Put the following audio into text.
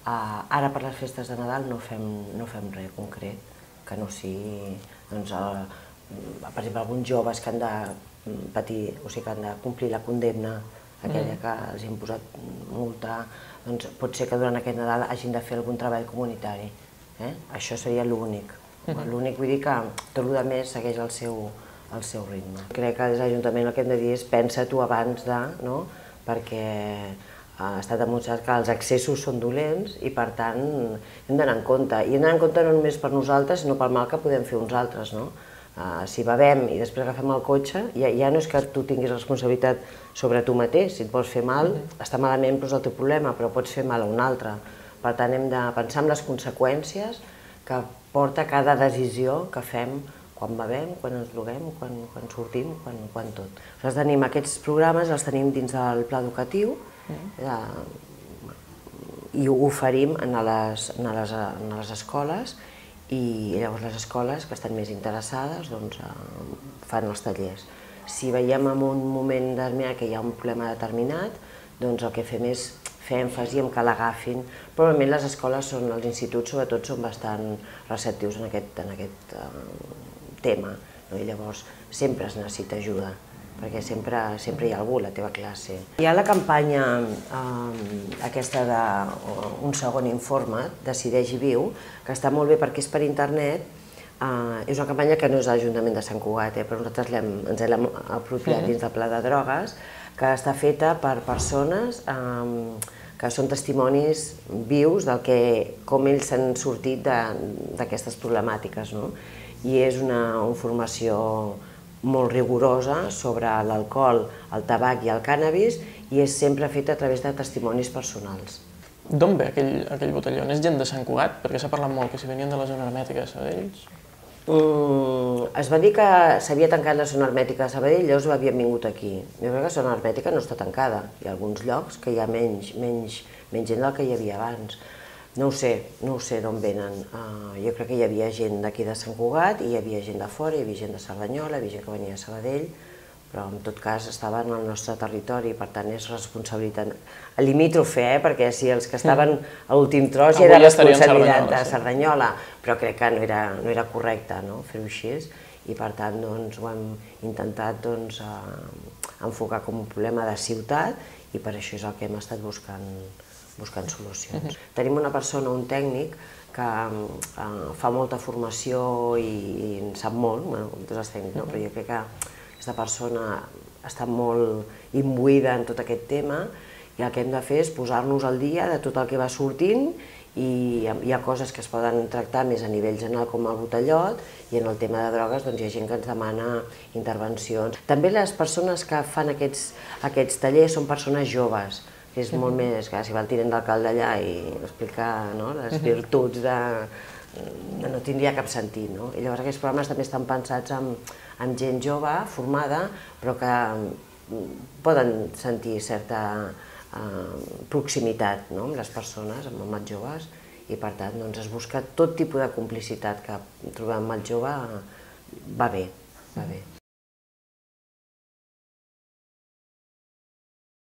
Ara per les festes de Nadal no fem res concret, que no sigui, doncs, per exemple, alguns joves que han de patir, o sigui, que han de complir la condemna, aquella que els hem posat multa, doncs pot ser que durant aquest Nadal hagin de fer algun treball comunitari. Això seria l'únic. L'únic, vull dir que tot el més segueix el seu ritme. Crec que des de l'Ajuntament el que hem de dir és pensa-t'ho abans de, perquè ha estat demostrat que els excessos són dolents i per tant hem d'anar en compte. I hem d'anar en compte no només per nosaltres, sinó pel mal que podem fer uns altres. Si bevem i després agafem el cotxe, ja no és que tu tinguis responsabilitat sobre tu mateix. Si et vols fer mal, està malament, però és el teu problema, però pots fer mal a un altre. Per tant, hem de pensar en les conseqüències que porta cada decisió que fem quan bevem, quan ens droguem, quan sortim, quan tot. Nosaltres tenim aquests programes, els tenim dins del pla educatiu i ho oferim a les escoles i llavors les escoles que estan més interessades fan els tallers. Si veiem en un moment determinat que hi ha un problema determinat, doncs el que fem és fer èmfasi en que l'agafin, però normalment les escoles, els instituts sobretot, són bastant receptius en aquest tema, i llavors sempre es necessita ajuda, perquè sempre hi ha algú a la teva classe. Hi ha la campanya aquesta d'Un segon informe, Decideix i viu, que està molt bé perquè és per internet. És una campanya que no és de l'Ajuntament de Sant Cugat, però nosaltres ens l'hem apropiat dins del Pla de Drogues, que està feta per persones que són testimonis vius de com ells s'han sortit d'aquestes problemàtiques. I és una formació molt rigorosa sobre l'alcohol, el tabac i el cànnabis i és sempre feta a través de testimonis personals. D'on ve aquell botelló? És gent de Sant Cugat? Perquè s'ha parlat molt que si venien de la zona hermètica de Sabadell. Es va dir que s'havia tancat la zona hermètica de Sabadell, llavors havien vingut aquí. Jo crec que la zona hermètica no està tancada. Hi ha alguns llocs que hi ha menys gent del que hi havia abans. No ho sé d'on venen. Jo crec que hi havia gent d'aquí de Sant Cugat, hi havia gent de fora, hi havia gent de Cerdanyola, hi havia gent que venia de Sabadell, però en tot cas estaven al nostre territori, per tant és responsabilitat limítrofe, perquè si els que estaven a l'últim tros ja era responsabilitat de Cerdanyola, però crec que no era correcte fer-ho així i per tant ho hem intentat enfocar com un problema de ciutat i per això és el que hem estat buscant solucions. Tenim una persona, un tècnic, que fa molta formació i en sap molt, com tots els tècnics, però jo crec que aquesta persona està molt imbuïda en tot aquest tema i el que hem de fer és posar-nos al dia de tot el que va sortint i hi ha coses que es poden tractar més a nivell general com el botellot i en el tema de drogues hi ha gent que ens demana intervencions. També les persones que fan aquests tallers són persones joves, que és molt més que si va el tinent d'alcalde allà i explicar les virtuts no tindria cap sentit. I llavors aquests programes també estan pensats amb gent jove, formada, però que poden sentir certa proximitat amb les persones, amb els joves, i per tant es busca tot tipus de complicitat que trobem amb el jove, va bé.